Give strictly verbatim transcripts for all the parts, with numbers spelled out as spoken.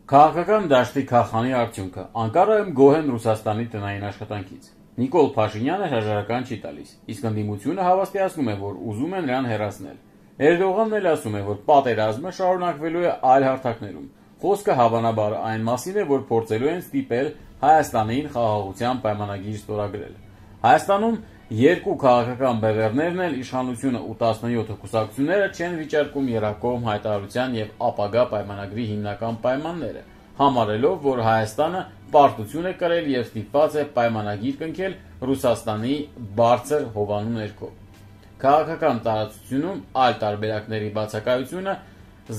Քաղաքական դաշտի քախանի արդյունքը Անկարայում գոհ են Ռուսաստանի տնային աշխատանքից։ Նիկոլ Փաշինյանը հրաժարական չի տալիս, իսկ ընդդիմությունը հավաստիացնում է, որ ուզում են նրան հեռացնել։ Էրդողանն էլ ասում է, որ պատերազմը շարունակվելու է այլ հարթակներում։ Խոսքը հավանաբար այն մասին է, որ փորձելու են ստիպել Հայաստանին խաղաղության պայմանագիր ստորագրել։ Հայաստանում երկու քաղաքական բևեռներն էլ իշխանությունը ու տասնյոթ կուսակցությունները չեն վիճարկում եռակողմ հայտարարության եւ ապագա պայմանագրի հիմնական պայմանները, համարելով, որ Հայաստանը պարտություն է կրել եւ ստիպված է պայմանագիր կնքել Ռուսաստանի բարձր հովանու ներքո։ Քաղաքական տարածությունում այլ տարբերակների բացակայությունը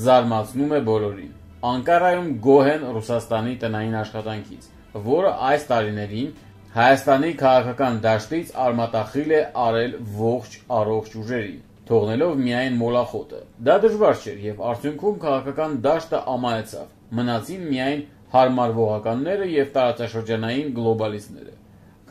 զարմացնում է բոլորին։ Անկարայում գոհ են Ռուսաստանի տնային աշխատանքից, որը այս տարիներին Հայաստանի քաղաքական դաշտից արմատախիլ է արել ողջ առողջ ուժերին, թողնելով միայն մոլախոտը։ Դա դժվար չէր եւ արդյունքում քաղաքական դաշտը ամայացավ, մնացին միայն հարմարվողականները եւ տարածաշրջանային գլոբալիստները։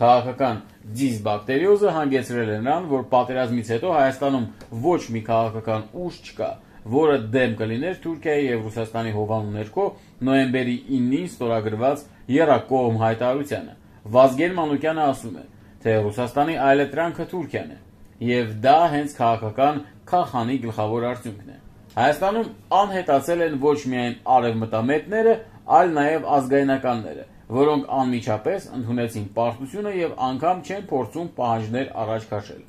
Քաղաքական դիզբակտերիոզը հանգեցրել է նրան, որ պատերազմից հետո Հայաստանում ոչ մի քաղաքական ուժ չկա, որը դեմ կլիներ Թուրքիայի եւ Ռուսաստանի հովանու ներքո նոյեմբերի իննին ստորագրված եռակողմ հայտարարությանը։ Վազգեն Մանուկյանը ասում է, թե Ռուսաստանի այլընտրանքը Թուրքիան է, եւ դա հենց քաղաքական քախանի գլխավոր արդյունքն է։ Հայաստանում անհետացել են ոչ միայն արևմտամետները, այլ նաեւ ազգայնականները, որոնք անմիջապես ընդունեցին պարտությունը եւ անգամ չեն փորձում պահանջներ առաջ քաշել։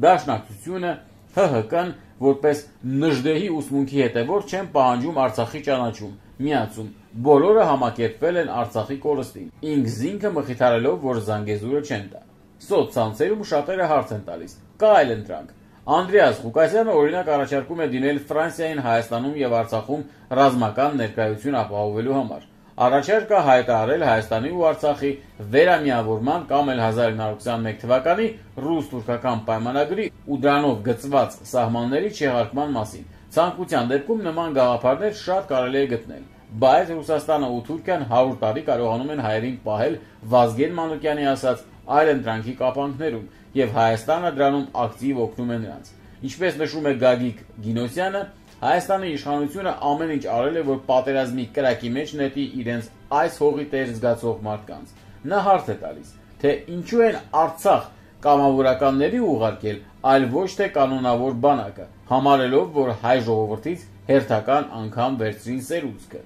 Դաշնակցությունը, Հ Հ Կն որպես նժդեհի ուսմունքի հետևորդ չեն պահանջում Արցախի ճանաչում, միացում, բոլորը համակերպվել են Արցախի կորստին, ինքզինքը մխիթարելով, որ Զանգեզուրը չեն տա։ Սոցցանցերում շատերը հարց են տալիս, կա այլընտրանք։ Անդրեաս Ղուկասյանը օրինակ առաջարկում է դիմել Ֆրանսիային Հայաստանում եւ Արցախում ռազմական ներկայություն ապահովելու համար։ Առաջարկը հայտարարել Հայաստանի ու Արցախի վերամիավորման կամ էլ հազար իննսուն քսաներկու թվականի ռուս-թուրքական պայմանագրի ու դրանով գծված սահմանների չեղարկման մասին։ Ցանկության դեպքում նման գաղափարներ շատ կարելի է գտնել, բայց Ռուսաստանը ու Թուրքիան հարյուր տարի կարողանում են հայերին պահել Վազգեն Մանուկյանի ասած այլընտրանքի կապանքներում, եւ Հայաստանը դրանում ակտիվ օգնում է նրանց։ Ինչպես նշում է Գագիկ Գինոսյանը, Հայաստանի իշխանությունը ամեն ինչ արել է, որ պատերազմի կրակի մեջ նետի իրենց այս հողի տեր զգացող մարդկանց։ Նա հարց է տալիս, թե ինչու են Արցախ կամավորականների ուղարկել, այլ ոչ թե կանոնավոր բանակը, համարելով, որ հայ ժողովրդից հերթական անգամ վերցրին սերուցքը։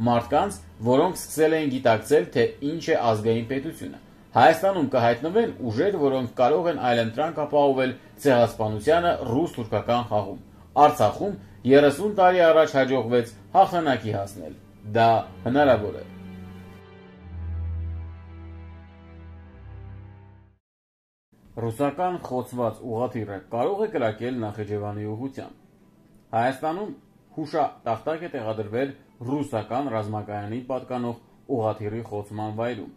Մարդկանց, որոնք սկսել էին գիտակցել, թե ինչ է ազգային պետությունը։ Հայաստանում կհայտնվեն ուժեր, որոնք կարող են այլընտրանք ապահովել ցեղասպանությանը ռուս-թուրքական խաղում։ Արցախում երեսուն տարի առաջ հաջողվեց հաղթանակի հասնել։ Դա հնարավոր է։ Ռուսական խոցված ուղղաթիռը կարող է կրակել Նախիջևանի ուղղությամբ։ Հայաստանում հուշատախտակ է տեղադրվել ռուսական ռազմակայանի պատկանող ուղղաթիռի խոցման վայրում,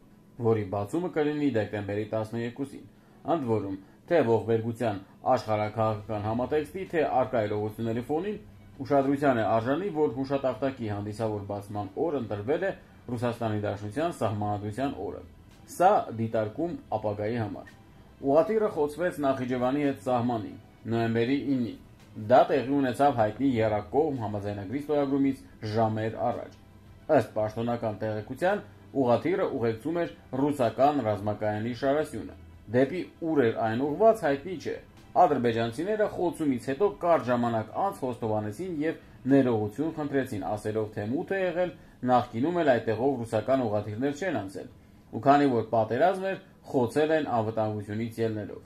որի բացումը կլինի դեկտեմբերի տասներկուսին։ Ընդ որում, թե ողբերգության աշխարհաքաղաքական համատեքստի, թե առկա իրողությունների ֆոնին ուշադրության է արժանի, որ հուշատախտակի հանդիսավոր բացման օրը ընտրվել է Ռուսաստանի Դաշնության Սահմանադրության օրը։ Սա դիտարկում ապագայի համար։ Ուղղաթիռը խոցվեց Նախիջևանի հետ սահմանին, նոյեմբերի իննին։ Դա տեղի ունեցավ հայտնի եռակողմ համաձայնագրի ստորագրումից ժամեր առաջ։ Ըստ պաշտոնական տեղեկության, ուղղաթիռը ուղեկցում էր ռուսական ռազմակայանի շարասյունը։ Դեպի ուր էր այն ուղղված հայտնի չէ։ Ադրբեջանցիները խոցումից հետո կարճ ժամանակ անց խոստովանեցին եւ ներողություն խնդրեցին, ասելով, թե մութ է եղել, նախկինում էլ այդտեղով ռուսական ուղղաթիռներ չեն անցել, ու քանի որ պատերազմ էր, խոցել են անվտանգությունից ելնելով։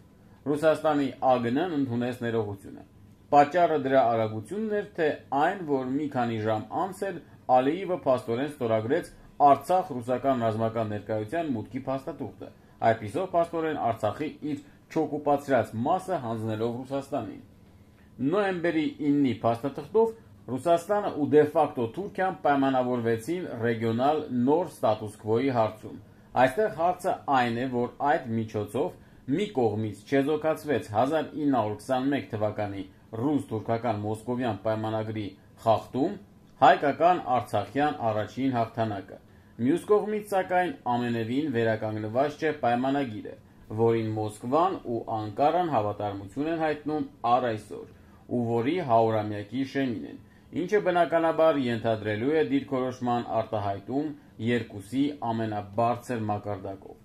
Ռուսաստանի Ա Գ Ն-ն ընդունեց ներողությունը։ Պատճառը դրա արագությունն էր, թե այն, որ մի քանի ժամ անց էլ Ալիևը փաստորեն ստորագրեց Արցախ ռուսական ռազմական ներկայության մուտքի փաստաթուղթը, այդպիսով փաստորեն Արցախի իր չօկուպացրած մասը հանձնելով Ռուսաստանին։ Նոյեմբերի իննի փաստաթղթով Ռուսաստանը ու դե ֆակտո Թուրքիան պայմանավորվեցին ռեգիոնալ նոր ստատուս քվոյի հարցում։ Այստեղ հարցը այն է, որ այդ միջոցով մի կողմից չեզոքացվեց հազար ինը հարյուր քսաներկու թվականի ռուս-թուրքական մոսկովյան պայմանագրի խախտում, հայկական արցախյան առաջին հաղթանակը։ Մյուս կողմից, սակայն, ամենևին վերականգնված չէ պայմանագիրը, որին Մոսկվան ու Անկարան հավատարմություն են հայտնում առ այսօր, ու որի հարյուրամյակի շեմին են, ինչը բնականաբար ենթադրելու է դիրքորոշման արտահայտում երկուսի ամենաբարձր մակարդակով։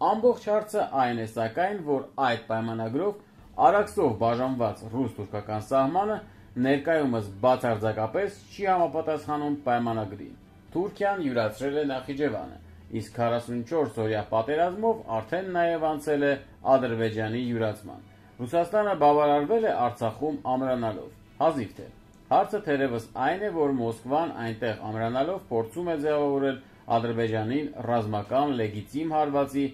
Ամբողջ հարցը այն է սակայն, որ այդ պայմանագրով Արաքսով բաժանված ռուս-թուրքական սահմանը ներկայումս բացարձակապես չի համապատասխանում պայմանագրին։ Թուրքիան յուրացրել է Նախիջևանը, իսկ քառասունչորս օրյա պատերազմով արդեն նաև անցել է Ադրբեջանի յուրացման։ Ռուսաստանը բավարարվել է Արցախում ամրանալով։ Հազիվ թե։ Հարցը թերևս այն է, որ Մոսկվան այնտեղ ամրանալով փորձում է ձևավորել Ադրբեջանին ռազմական լեգիտիմ հարվածի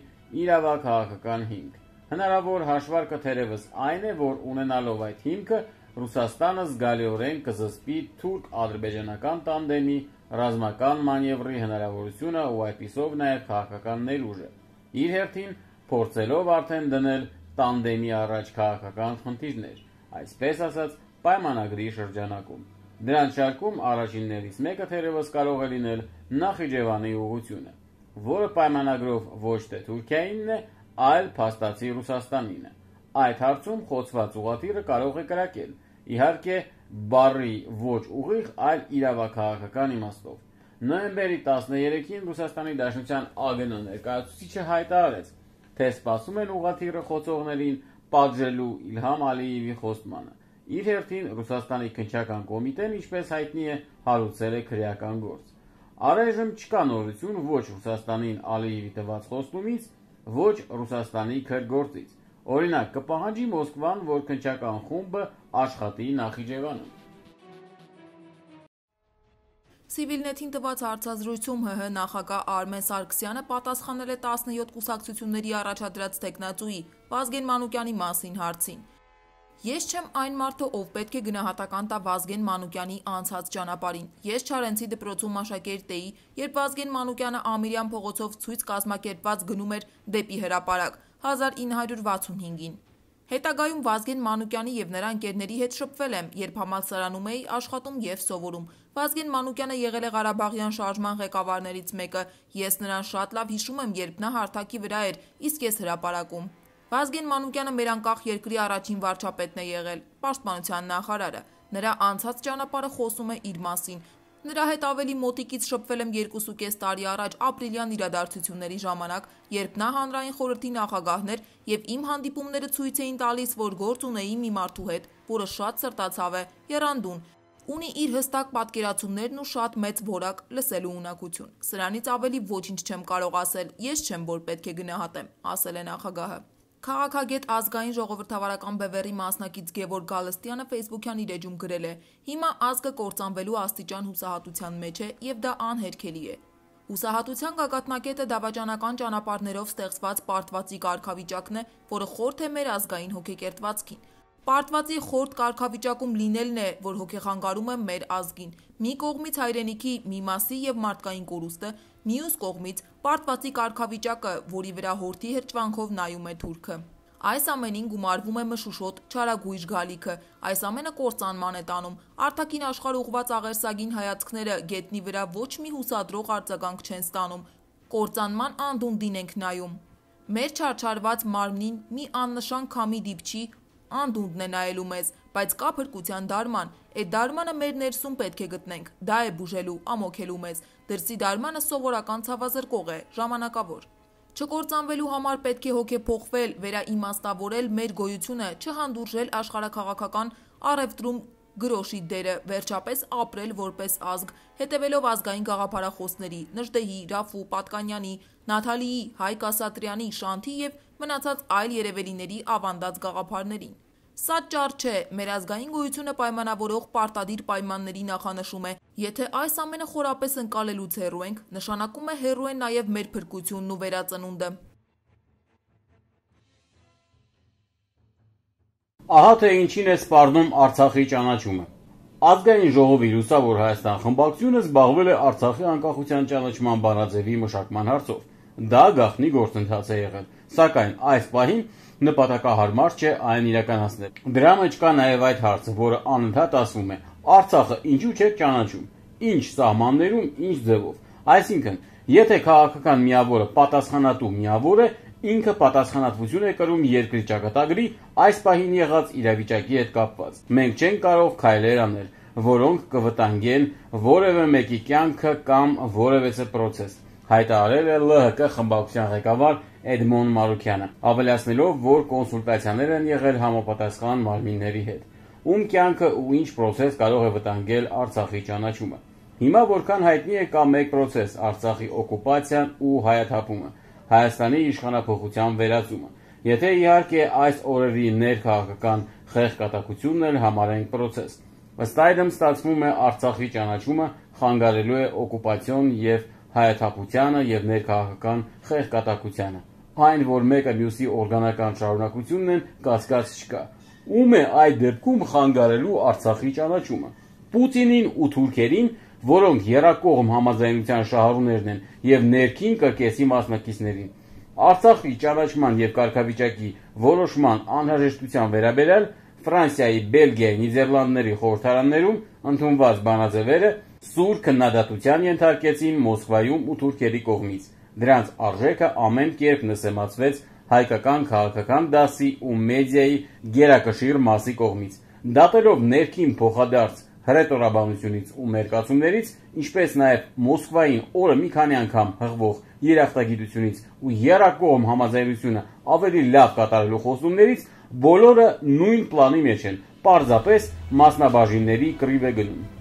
իրավաքաղաքական հիմք։ Հնարավոր հաշվարկը թերևս այն է, որ ունենալով այդ հիմքը Ռուսաստանը զգալիորեն կզսպի թուրք-ադրբեջանական տանդեմի ռազմական մանևրի հնարավորությունը ու այդպիսով նաև քաղաքական ներուժը, իր հերթին փորձելով արդեն դնել տանդեմի առաջ քաղաքական խնդիրներ, այսպես ասած պայմանագրի շրջանակում։ Դրանց շարքում առաջիններից մեկը թերևս կարող է լինել Նախիջևանի ուղղությունը, որը պայմանագրով ոչ թե Թուրքիայինն է, այլ փաստացի Ռուսաստանինը։ Այդ հարցում խոցված ուղղաթիռը կարող է կրակել, իհարկե բառի ոչ ուղիղ, այլ իրավաքաղաքական իմաստով։ Նոյեմբերի տասներեքին Ռուսաստանի Դաշնության ԱԳՆ ներկայացուցիչը հայտարարեց, թե սպասում են ուղղաթիռը խոցողներին պատժելու Իլհամ Ալիևի խոստմանը։ Իր հերթին Ռուսաստանի քննչական կոմիտեն, ինչպես հայտնի է, հարուցել է քրեական գործ։ Առայժմ չկա նորություն ոչ Ռուսաստանին Ալիևի տված խոստումից, ոչ Ռուսաստանի քրգործից։ Օրինակ, կպահանջի Մոսկվան, որ քննչական խումբը աշխատի Նախիջևանում։ Civilnet-ին տված հարցազրույցում ՀՀ նախագահ Արմեն Սարգսյանը պատասխանել է տասնյոթ կուսակցությունների առաջադրած թեկնածուի Վազգեն Մանուկյանի մասին հարցին։ Ես չեմ այն մարդը, ով պետք է գնահատական տա Վազգեն Մանուկյանի անցած ճանապարհին։ Ես Չարենցի դպրոցում աշակերտ էի, երբ Վազգեն Մանուկյանը Ամիրյան փողոցով ցույց կազմակերպված գնում էր դեպի հրապարակ հազար ինը հարյուր վաթսունհինգին։ Հետագայում Վազգեն Մանուկյանի եւ նրա ընկերների հետ շփվել եմ, երբ համալսարանում էի աշխատում եւ սովորում։ Վազգեն Մանուկյանը եղել է Ղարաբաղյան շարժման ղեկավարներից մեկը։ Ես նրան շատ լավ հիշում եմ, երբ նա հարթակի վրա էր, իսկ ես հրապարակում։ Վազգեն Մանուկյանը մեր անկախ երկրի առաջին վարչապետն է եղել, պաշտպանության նախարարը։ Նրա անցած ճանապարհը խոսում է իր մասին։ Նրա հետ ավելի մոտիկից շփվել եմ երկուսուկես տարի առաջ ապրիլյան իրադարձությունների ժամանակ, երբ նա հանրային խորհրդի նախագահն էր եւ իմ հանդիպումները ցույց էին տալիս, որ գործ ունեի մի մարդու հետ, որը շատ սրտացավ է, եռանդուն, ունի իր հստակ պատկերացումներն ու շատ մեծ որակ լսելու ունակություն։ Սրանից ավելի ոչինչ չեմ կարող ասել, ես չեմ, որ պետք է գնահատեմ, ասել է նախագահը։ Քաղաքագետ ազգային ժողովրդավարական բևեռի մասնակից Գևորգ Գալստյանը ֆեյսբուքյան իր էջում գրել է. Հիմա ազգը կործանվելու աստիճան հուսահատության մեջ է եւ դա անհերքելի է։ Հուսահատության գագաթնակետը դավաճանական ճանապարհներով ստեղծված պարտվածի կարգավիճակն է, որը խորթ է մեր ազգային հոգեկերտվածքին։ Պարտվածի խորտ կարգավիճակում լինելն է, որ հոգեխանգարում է մեր ազգին։ Մի կողմից հայրենիքի մի մասի եւ մարդկային կորուստը, մյուս կողմից պարտվածի կարգավիճակը, որի վրա հորթի հրճվանքով նայում է թուրքը։ Այս ամենին գումարվում է մշուշոտ չարագույժ գալիքը, այս ամենը կործանման է տանում, արտաքին աշխարհ ուղղված աղերսագին հայացքները գետնի վրա ոչ մի հուսադրող արձագանք չեն ստանում, կործանման անդունդին ենք նայում։ Մեր չարչարված մարմնին մի աննշան քամի դիպչի, անդունդն է նայելու մեզ, բայց կա փրկության դարման, այդ դարմանը մեր ներսում պետք է գտնենք, դա է բուժելու, ամոքելու մեզ, դրսի դարմանը սովորական ցավազրկող է, ժամանակավոր։ Չկործանվելու համար պետք է հոգեփոխվել, վերաիմաստավորել մեր գոյությունը, չհանդուրժել աշխարհաքաղաքական առևտրում գրոշի դերը, վերջապես ապրել որպես ազգ, հետևելով ազգային գաղափարախոսների, Նժդեհի, Ռաֆու, Պատկանյանի, Նաթալիի, Հայկ Ասատրյանի, Շանթի եւ մնացած այլ երևելիների ավանդած գաղափարներին։ Սա ճար չէ, մեր ազգային գոյությունը պայմանավորող պարտադիր պայմանների նախանշում է։ Եթե այս ամենը խորապես ընկալելուց հեռու ենք, նշանակում է հեռու է նաև մեր փրկությունն ու վերածնունդը։ Ահա թե ինչին է սպառնում Արցախի ճանաչումը։ Ազգային ժողովի Լուսավոր Հայաստան խմբակցությունը զբաղվել է Արցախի անկախության ճանաչման բանաձևի մշակման հարցով։ Դա գաղտնի գործընթաց է եղել, սակայն այս պահին նպատակահարմար չէ այն իրականացնել։ Դրա մեջ կա նաև այդ հարցը, որը անընդհատ ասվում է. Արցախը ինչու՞ չէ ճանաչում, ինչ սահմաններում, ինչ ձևով։ Այսինքն, եթե քաղաքական միավորը պատասխանատու միավոր է, ինքը պատասխանատվություն է կրում երկրի ճակատագրի այս պահին եղած իրավիճակի հետ կապված։ Մենք չենք կարող քայլեր անել, որոնք կվտանգեն որևէ մեկի կյանքը կամ որևէ պրոցես, հայտարարել է L H K խմբակցության ղեկավար Էդմոն Մարուքյանը, ավելացնելով, որ կոնսուլտացիաներ են եղել համապատասխան մարմինների հետ, ում կյանքը ու ինչ պրոցես կարող է վտանգել Արցախի ճանաչումը։ Հիմա որքան հայտնի է, կա մեկ պրոցես՝ Արցախի օկուպացիան ու հայաթափումը, Հայաստանի իշխանափոխության վերածումը։ Եթե իհարկե այս օրերի ներքաղաքական խեղճկատակությունն էլ համարենք պրոցես։ Ըստ այդմ ստացվում է Արցախի ճանաչումը խանգարելու է օկուպացիոն եւ հայաթափությանը եւ ներքաղաքական խեղճկատակությանը։ Այն, որ մեկը մյուսի օրգանական շարունակությունն են, կասկած չկա։ Ում է այդ դեպքում խանգարելու Արցախի ճանաչումը։ Պուտինին ու թուրքերին, որոնք եռակողմ համաձայնության շահառուներն են եւ ներքին կրկեսի մասնակիցներին։ Արցախի ճանաչման եւ կարգավիճակի որոշման անհրաժեշտության վերաբերյալ Ֆրանսիայի, Բելգիայի, Նիդերլանդների խորհրդարաններում ընդունված բանաձևերը սուր քննադատության ենթարկեցին Մոսկվայում ու թուրքերի կողմից։ Դրանց արժեքը ամեն կերպ նսեմացվեց հայկական քաղաքական դասի ու մեդիայի գերակշիռ մասի կողմից, դատելով ներքին փոխադարձ հռետորաբանությունից ու մերկացումներից, ինչպես նաև Մոսկվային օրը մի քանի անգամ հղվող երախտագիտությունից ու եռակողմ համաձայնությունը ավելի լավ կատարելու խոստումներից, բոլորը նույն պլանի մեջ են, պարզապես մասնաբաժինների կռիվ է գնում։